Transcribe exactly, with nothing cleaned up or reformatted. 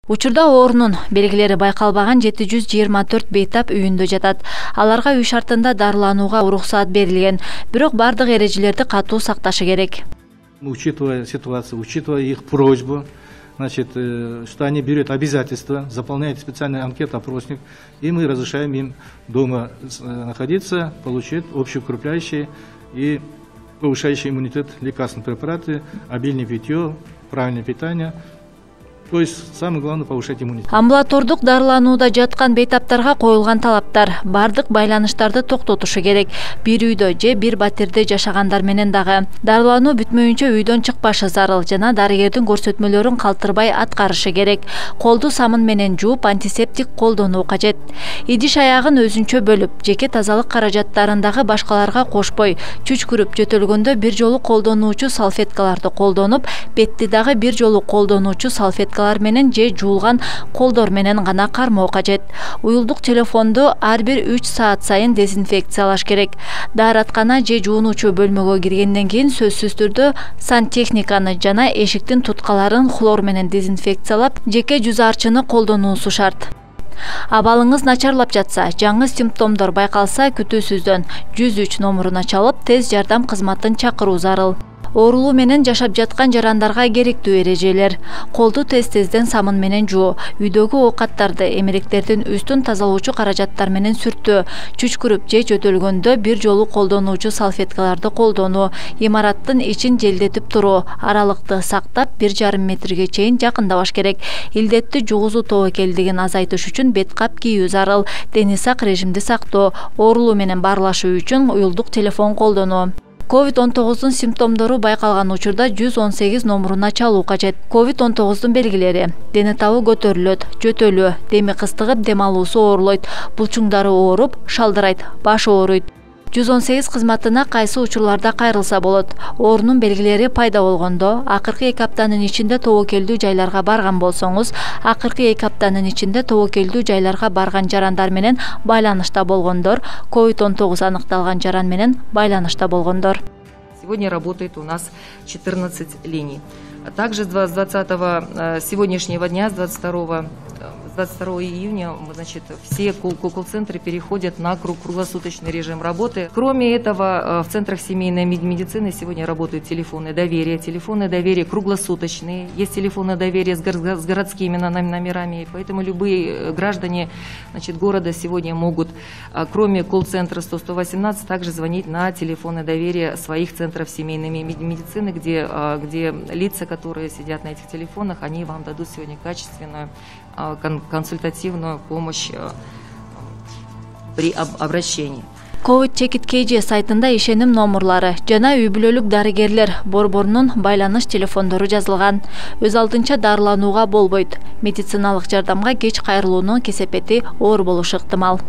Учурда оорунун белгилери байкалбаган жети жүз жыйырма төрт бейтап үйүндө жатат. Аларга үй шартында дарыланууга уруксаат берилген, бирок бардык эрежелерди катуу сакташы керек. Учитывая ситуацию, учитывая их просьбу, значит, что они берут обязательства, заполняют специальный анкет-опросник, и мы разрешаем им дома находиться, получить общеукрепляющие и повышающие иммунитет лекарственные препараты, обильное питье, правильное питание. То есть самое главное повышать иммунитет. Амбулатордук дарыланууда жаткан бейтаптарга коюлган талаптар: бардык байланыштарды токтотушу керек. Бир үйдө же бир батирде жашагандар менен дагы дарылануу бүтмөйүнчө үйдөн чыкпашы зарыл жана дарыгердин көрсөтмөлөрүн калтырбай аткарышы керек. Колду самын менен жууп, антисептик колдонуу кажет. Идиш аягын өзүнчө бөлүп, жеке тазалык каражаттарындагы башкаларга кошпой, чүчкүрүп жөтөлгөндө бир жолу колдонуучу салфеткаларды колдонуп, бетти дагы бир жолу колдонуучу салфеткалар менен же жуулган колдор менен гана кармоо кажет. Уюлдук телефонду ар бир үч саат сайын дезинфекциялаш керек. Даараткана же жуунуучу бөлмөгө киргенден кийин сөзсүз түрдө сантехниканы жана эшиктин туткаларын хлор менен дезинфекциялап, жеке жүз арчыны колдонуусу шарт. Абалыңыз начарлап жатса, жаңы симптомдор байкалса, күтүүсүздөн жүз үч номуруна чалып, тез жардам кызматын чакыруу зарыл. Оорулуу менен жашап жаткан жарандарга керектүү эрежелер: колду тез-тезден самын менен жуу, үйдөгү оокаттарды, эмеректердин үстүн тазалоочу каражаттар менен сүртүү, чүчкүрүп же жөтөлгөндө бир жолу колдонуучу салфеткаларды колдонуу, имараттын ичин желдетип туруу, аралыкты сактап бир жарым метрге чейин жакындабаш керек. Илдетти жугузуу тобокелдигин азайтыш үчүн бет кап кийүү зарыл, дени сак режимди сактоо, оорулуу менен баарлашуу үчүн уюлдук телефон колдонуу. ковид он тогуздун симптомдору байкалган учурда жүз он сегиз номуруна чалуу кажет. ковид он тогуздун белгилери: дени табы көтөрүлөт, жөтөлүү, деми кыстыгып, дем алуусу оорлойт, булчуңдары ооруп, шалдырайт, баш ооруйт. жүз он сегиз кызматына кайсы учурларда кайрылса болот? Оорунун белгилери пайда болгондо, акыркы эки аптанын ичинде тобокелдүү жайларга барган болсоңуз, акыркы эки аптанын ичинде тобокелдүү жайларга барган жарандар менен байланышта болгондор, ковид он тогуз аныкталган жаран менен байланышта болгондор. Сегодня работает у нас четырнадцать линий. Также с двадцатого сегодняшнего дня, с двадцать второго июня, значит, все колл-центры переходят на круглосуточный режим работы. Кроме этого, в центрах семейной медицины сегодня работают телефоны доверия. Телефоны доверия круглосуточные. Есть телефоны доверия с городскими номерами. Поэтому любые граждане, значит, города сегодня могут, кроме колл-центра сто сто восемнадцать, также звонить на телефоны доверия своих центров семейной медицины, где, где лица, которые сидят на этих телефонах, они вам дадут сегодня качественную консультативную помощь при обращении. ковид чекит кей джи сайтында ишеним номурлары жана үй бүлөлүк дарыгерлер борборунун байланыш телефондору жазылган. Өз алдынча дарыланууга болбойт. Медициналык жардамга кеч кайрылуунун кесепети оор болушу ыктымал.